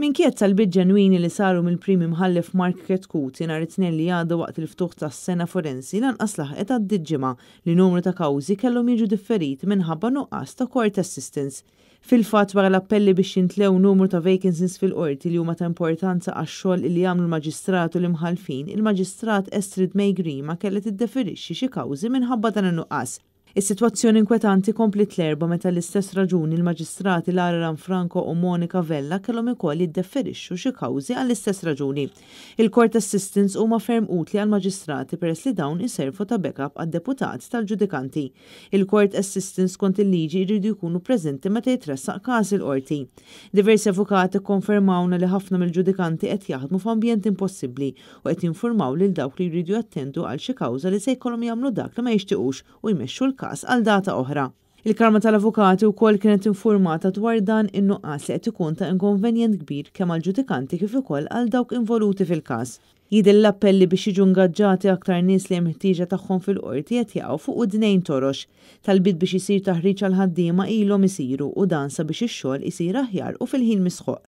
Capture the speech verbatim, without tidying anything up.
Minkejja talbiet ġenwini li saru mill-Prim Imħallef Mark Chetcuti nhar it-Tnejn li għadda waqt il-ftuħ tas-sena forensi, lanqas laħqet għaddiet ġimgħa li numru ta' kawżi kellhom jiġu differiti minħabba nuqqas ta' court assistants. Fil-fatt, wara l-appelli biex jimtlew numru ta' vacancies fil-qorti li huma ta' importanza għax-xogħol li jagħmlu l-maġistrat u l-imħallfin, il-Maġistrat Astrid May Grima kellha tiddeferixxi xi kawżi minħabba dan in-nuqqas. Is-sitwazzjoni inkwetanti kompliet l-Erbgħa meta l-istess raġuni l-maġistrati Lara Lanfranco u Monica Vella kellhom ukoll jiddefferixxu xi kawżi għall-istess raġuni. Il-court assistants huma ferm utli għall-maġistrati peress li dawn iservu ta' backup għad-deputat tal-ġudikanti. Il-court assistants skont il-liġi jridu jkunu preżenti meta jitressaq każ il-qorti. Diversi avukati konfermawna li ħafna mill-ġudikanti qed jaħdmu f'ambjent impossibbli u qed jinformaw lil dawk li jridu jattendu għal xi kawża li se jkollhom jagħmlu dak li ma jixtiequx u jmexxu l-każ għal data oħra. Il-Kamra tal-Avukati wkoll kienet informata dwar dan in-nuqqas li qed ikun ta' inkonvenjent kbir kemm għall-ġudikanti kif ukoll għal dawk involuti fil-każ. Jidher l-appelli biex jiġu ingaġġati aktar nies li hemm ħtieġa tagħhom fil-qorti qed jaqgħu fuq widnejn torox. Talbiet biex isir taħriġ għal ħaddiema ilhom isiru u dan sabiex ix-xogħol isir aħjar u fil-ħin mistħoqq.